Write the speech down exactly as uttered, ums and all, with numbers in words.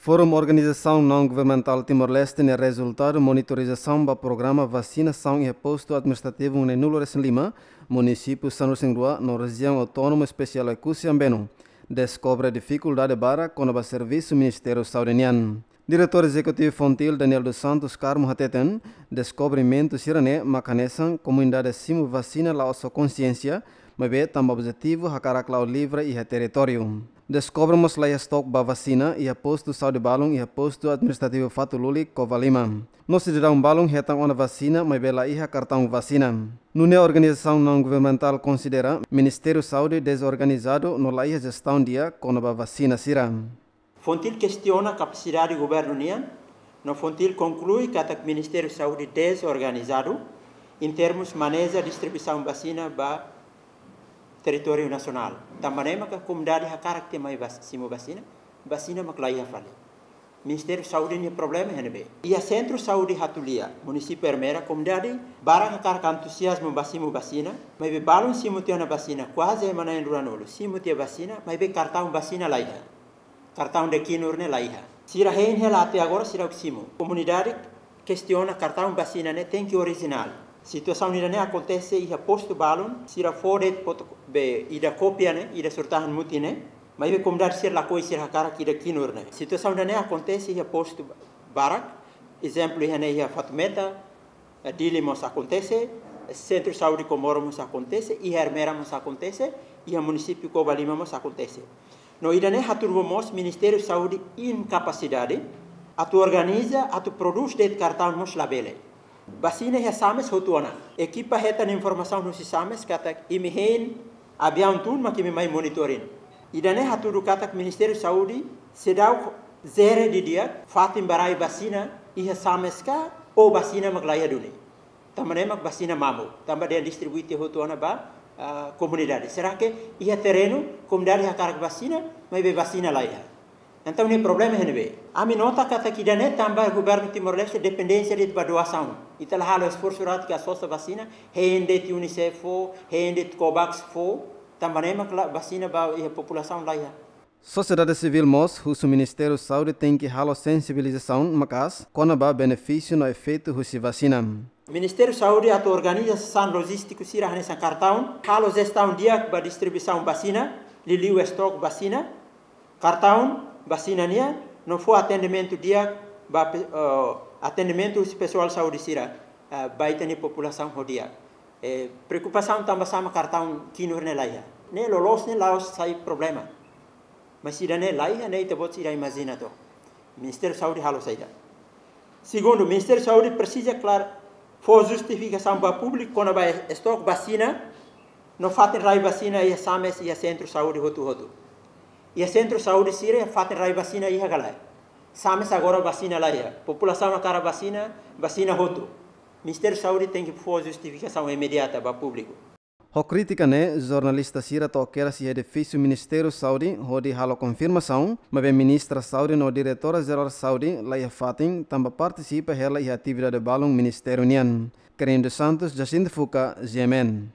Forum Organizasaun Naun Governamentál Timor-Leste nia rezultadu monitorizasaun ba programa vasinasaun iha postu administrativu neen-nulu resin lima, munisípiu sanulu resin rua no Rejiaun Autónoma Espesiál Oekusi Ambeno, deskobre difikuldade barak kona-ba servisu Ministériu Saúde nian. Diretór Ezekutivu Fontil, Daniel dos Santos Carmo, hateten, deskobrimentu sira-ne'e mak hanesan komunidade simu vasina la'ós ho konsiénsia, maibé tanba objetivu hakarak la'o livre iha territóriu. Deskobre mós laiha estok ba vasina iha postu saúde balun iha postu administrativu Fatululi, Covalima. No sidadaun balun hetan ona vasina, maibé laiha kartaun vasina. Nune'e organizasaun naun governamentál konsidera Ministériu Saúde dezorganizadu no laiha jestaun di'ak kona-ba vasina sira. Fontil kestiona kapasidade governu nian, no Fontil konklui katak Ministériu Saúde dezorganizadu em termos maneja distribuisaun vasina ba territóriu nasionál. Tanba ne'e maka komunidade hakarak tiha mai vas-, simu vasina, vasina mak laiha fali. Ministériu Saúde nia problema iha ne'ebé? Iha Sentru Saúde Hatulia, munisípiu Ermera, komunidade barak hakarak antuziazmu ba simu vasina, maibé balun simu tiha ona vasina, kuaze ema na'in ruanulu simu tiha vasina, maibé kartaun vasina laiha. Kartaun de kinur ne'e laiha. Sira hein hela até agora sira simu. Komunidade kestiona kartaun vasina ne'e tenke orijinál. Situasaun ida-ne'e akontese iha postu balun, sira fó de'it foto be ida kópia ne'e, ida surat-tahan mutin ne'e, maibé komunidade sira lakohi, sira hakarak ida kinur ne'e. Situasaun ida-ne'e akontese iha postu barak, ezemplu iha ne'e iha Fatumeta, eh, Dili mós akontese, Sentru Saúde Comoro mós akontese, iha Ermera mós akontese, iha munisípiu Covalima mós akontese. No ida-ne'e hatudu ba mós Ministériu Saúde inkapasidade atu organiza, atu prodús de'it kartaun mós labele. Vasina iha SAMES hotu ona. Ekipa hetan informasaun husi SAMES katak imi hein aviaun tun mak imi mai monitoring. Ida-ne'e hatudu katak Ministériu Saúde seidauk jere didi'ak fatin ba rai vasina iha SAMES ka, ou vasina mak laiha duni. Tanba ne'e mak vasina mamuk, tanba dehan distribui tiha hotu ona ba, ah, komunidade. Será que iha terrenu komunidade hakarak vasina, maibé vasina laiha? Entaun ne'e problema iha ne'ebé? Ami nota katak ida-ne'e tanba governu Timor-Leste dependénsia de'it ba doasaun. Ita la halo esforsu atu ka sosa vasina, hein de'it UNICEF fó, hein de'it COVAX fó, tanba ne'e mak la vasina ba iha populasaun laiha. Sosiedade sivíl mós husu Ministériu Saúde tenke halo sensibilizasaun maka'as kona-ba benefísiu no efeitu husi vasina. Ministériu Saúde atu organiza sasán lojístiku sira hanesan kartaun, halo jestaun di'ak ba distribuisaun vasina, liuliu estok vasina, kartaun vasina nian, no fó atendimentu di'ak ba pe-, eh, atendimentu husi pesoál saúde sira, eh, ba ita-nia populasaun ho di'ak. Eh, preokupasaun tanba sá mak kartaun kinur ne'e laiha. Ne'e loloos ne'e la'ós sai problema. Mas ida-ne'e laiha, ne'e ita-boot sira imajina to'ok. Ministériu Saúde halo saida? Segundu, Ministériu Saúde presiza klaru fó justifikasaun ba públiku kona-ba estok vasina no fatin rai vasina iha SAMES, iha Sentru Saúde hotu-hotu. Iha Sentru Saúde sira fatin rai vasina iha ka lae? SAMES agora vasina laiha. Populasaun hakarak vasina, vasina hotu. Ministériu Saúde tenke fó justifikasaun imediata ba públiku. Ho krítika ne'e, jornalista sira to'o kedas iha edifísiu Ministériu Saúde hodi halo konfirmasaun, maibé Ministra Saúde no Diretora Jerál Saúde laiha fatin tanba partisipa hela iha atividade balun ministériu nian. Karen dos Santos, Jacinto Fuca, G M N.